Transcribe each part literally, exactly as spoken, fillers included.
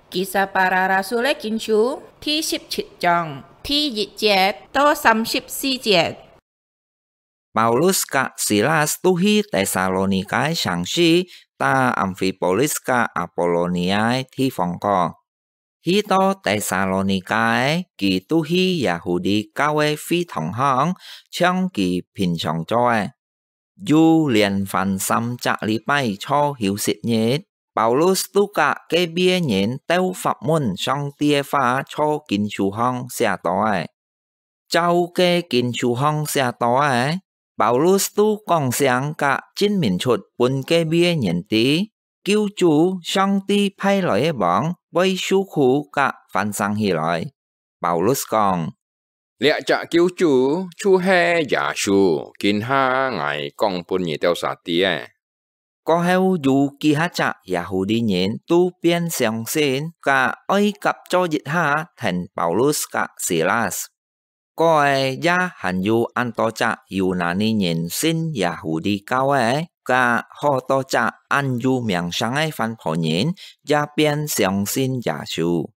Kisah Para Rasul-é Kinsú第十七章第一節到三十四節。 Paulus ka Silas tu hi Tesalonika-é城市，搭Amfipolis ka Apolonia-é地方過。去到Tesalonika，佢拄去Yahudi教會會堂項，像佢平常做个。有連番三隻禮拜坐休息日，Paulus都佮該位个人鬥法文上帝个話，在經書項寫到个。照該經書項寫到个，Paulus都講聲佮證明出分該位个人知，救主上帝派來个王會受苦佮翻生起來。Paulus講：「這隻救主就係耶穌，今下𠊎講分你兜儕知个。」 過後有幾下隻Yahudi人都變相信，佮愛合作一下跈Paulus佮Silas。過後也還有恁多隻Yunani人信Yahudi教會，佮好多隻恁有名聲个番婆人也變相信耶穌。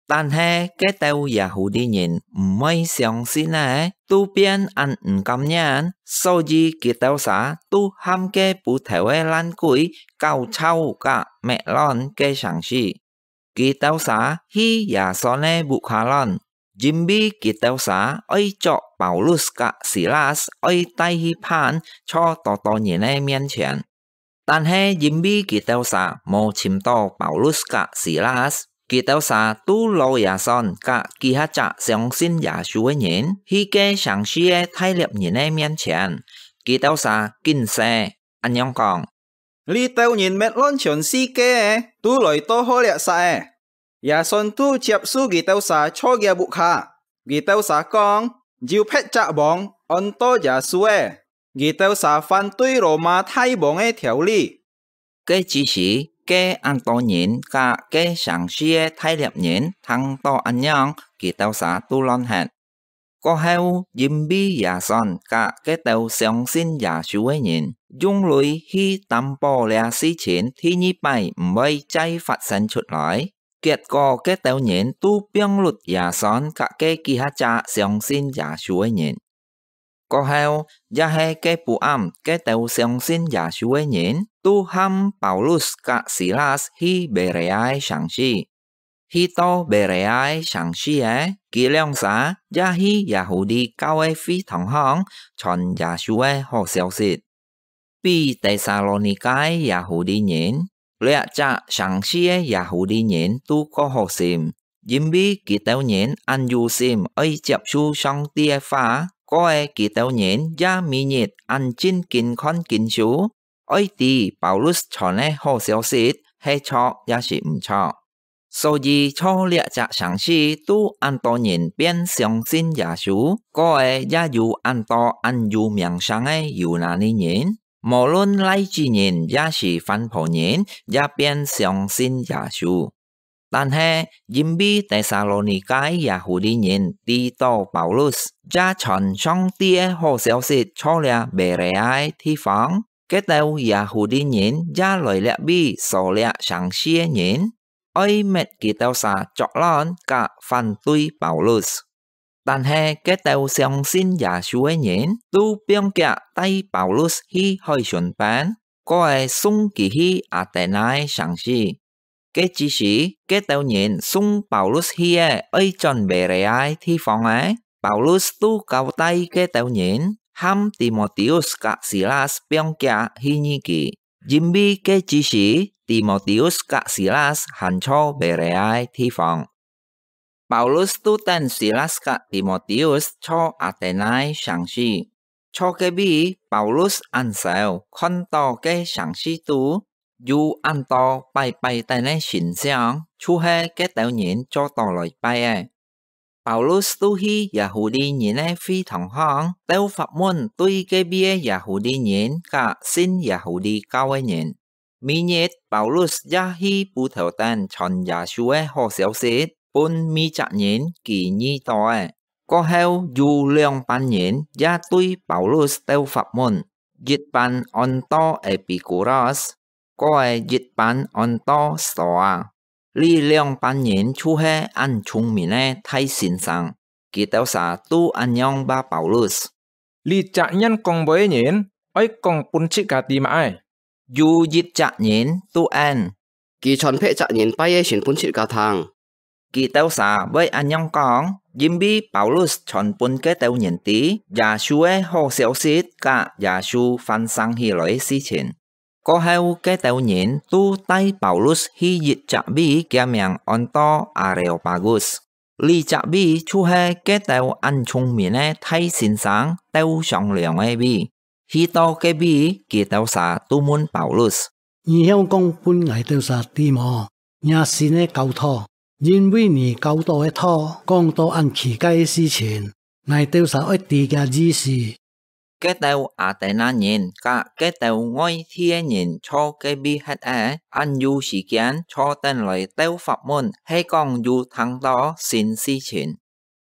但係該兜Yahudi人毋會相信个，都變恁毋甘願，所以佢兜儕都喊該捕頭个爛鬼搞吵佮滅亂該城市。佢兜儕去Yason个屋下亂，因為佢兜儕愛捉Paulus佮Silas，愛帶去判在多多人个面前。 但係因為佢兜儕無尋到Paulus佮Silas，佢兜儕都摎Yason佮幾下隻相信耶穌个人去該城市个大獵人个面前。佢兜儕緊說，恁樣講：「這兜人滅亂全世界个，都來到好掠殺个！」Yason都接受佢兜儕在厥屋下。佢兜儕講：「有別隻王安到耶穌个！」 佢兜儕反對羅馬大王个條例。該之時，該恁多人佮該城市个大獵人聽到恁樣，佢兜儕都亂忒。過後，因為Yason佮該兜相信耶穌个人用鐳去擔保這事情第二擺毋會再發生出來，結果該兜人都放忒Yason佮該幾下隻相信耶穌个人。 過後，也係該晡暗，該兜相信耶穌个人都喊Paulus佮Silas去Berea个城市。去到Berea个城市个，佢兩儕也去Yahudi教會个會堂項傳耶穌个好消息。 比Tesalonika个Yahudi人，這隻城市个Yahudi人都較好心，因為佢兜人恁有心愛接受上帝个話，過後佢兜人也每日恁正經看經書，愛知Paulus傳个好消息係著也係毋著。 所以在這隻城市都恁多人變相信耶穌，過後也有恁多恁有名聲个Yunani人，無論拉子人也係番婆人，也變相信耶穌。但係因為Tesalonika个Yahudi人知道Paulus也傳上帝个好消息在這Berea个地方，該兜Yahudi人也來這位掃這城市个人， 愛搣佢兜儕作亂佮反對Paulus。但係該兜相信耶穌个人都放厥帶Paulus去海脣邊，過後送佢去Atena个城市。該之時，該兜人送Paulus去个愛轉Berea个地方个， Paulus都交代該兜人，喊Timoteus佮Silas放厥去見佢，因為該之時Timoteus佮Silas還在Berea个地方。Paulus都等Silas佮Timoteus在Atena个城市。在該位，Paulus恁愁，看到該城市肚有恁多拜拜等个神像，就係該兜人做到來拜个。 Paulus都去Yahudi人个會堂項，鬥法門對該位个Yahudi人佮信Yahudi教个人。每日Paulus也去布道頂傳耶穌个好消息，分每隻人佢遇到个。過後有兩班人也對Paulus鬥法門，一班安到Epikuros，過後一班安到Stoa。這兩班人就係恁聰明个大先生，佢兜儕都恁樣話Paulus：「這隻演講會个人，愛講分自家知麼个？」有一隻人都應：「佢傳別隻人拜个信分自家聽。」佢兜儕會恁樣講，因為Paulus傳分該兜人知耶穌个好消息，佮耶穌翻生起來个事情。過後，該兜人都帶Paulus去一隻位，厥名安到Areopagus。這隻位就係該兜恁聰明个大先生鬥商量个位。去到該位，佢兜儕都問Paulus：「你曉講分𠊎兜儕知無？若新个教導，因為你教導个道講到恁奇怪个事情，𠊎兜儕愛知厥意思。」該兜Atena人佮該兜外地个人坐該位歇仔，恁有時間坐等來鬥法問，係講有聽到新事情。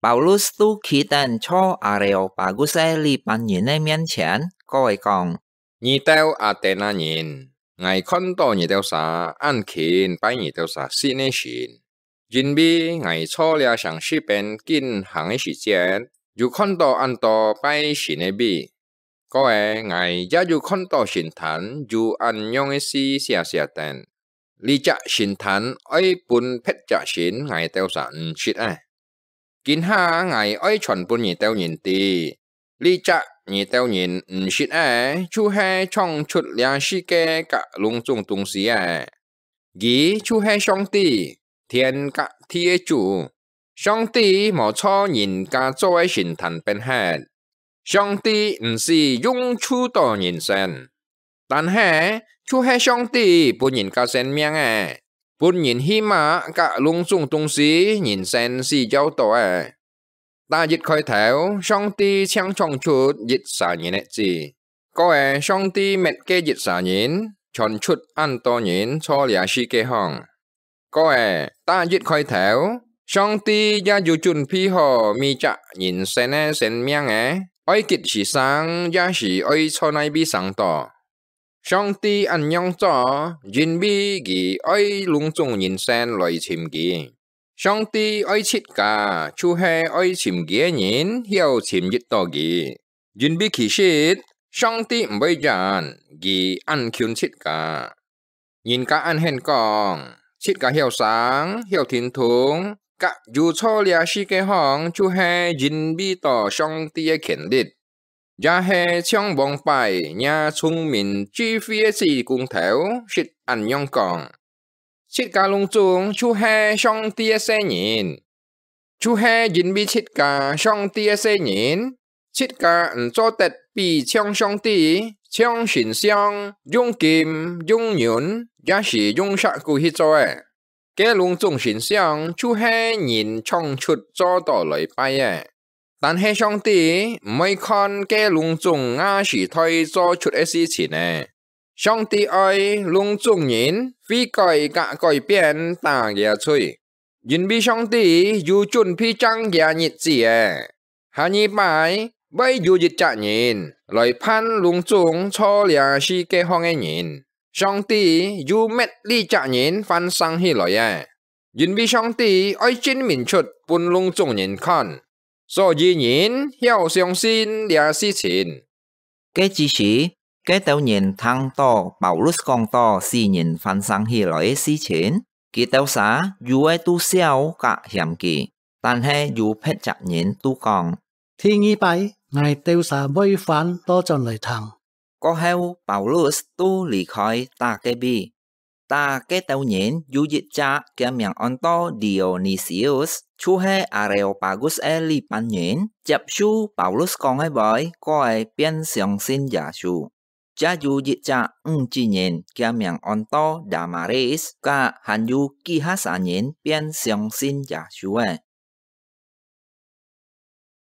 Paulus都企等坐Areopagus个這班人个面前，過來講：「你兜Atena人，𠊎看到你兜儕恁勤拜你兜儕信个神，因為𠊎坐這城市邊緊行个時節，有看到恁多拜神个位。過仔，𠊎也有看到神壇有恁樣个字寫寫等：這隻神壇愛分別隻神，𠊎兜儕毋識仔。今下𠊎愛傳分你兜人知，這隻你兜人毋識仔，就係創出這世界佮攏總東西个。佢就係上帝，天佮地个主。上帝無造人家做个神壇變忒。上帝毋使用手到人身，但係就係上帝分人家生命个，分人去麼佮攏總東西人身需要到个。打一開頭，上帝正創出一儕人个子。過仔，上帝滅該一儕人，傳出恁多人坐這世界項。過仔，打一開頭，上帝也有準備好每隻人身个生命个，愛幾時生，也係愛在哪位生到。上帝恁樣做，因為佢愛攏總人身來尋佢。上帝愛自家，就係愛尋佢个人，曉尋一到佢。因為其實，上帝毋會遠，佢恁近自家。人家恁興講，自家曉生，曉聽通，佮有坐這世界項，就係因為到上帝个權力。也係像往擺若聰明智慧个子工頭，識恁樣講：自家攏總就係上帝个細人，就係因為自家上帝个細人，自家毋做得比像上帝，像神像，用金、用銀，也係用石牯去做个。該攏總神像就係人創出做到來拜个。但係上帝毋會看該攏總亞時代做出个事情呢。上帝愛攏總人悔改佮改變打厥罪，因為上帝有準備正厥日子个。下二擺會有一隻人來判攏總坐這世界項个人，上帝有搣這隻人翻生起來个，因為上帝愛證明出分攏總人看，所以人曉相信這事情。該之時，該兜人聽到Paulus講到死人翻生起來个事情，佢兜儕有个都笑佮嫌佢，但係有別隻人都講：第二擺，𠊎兜儕會翻倒轉來聽。過後，Paulus都離開打該位。打該兜人有一隻，厥名安到Dionisius，就係Areopagus个這班人，接受Paulus講个話，過仔變相信耶穌。 也有一隻女子人，厥名安到Damaris，佮還有幾下儕人變相信耶穌个。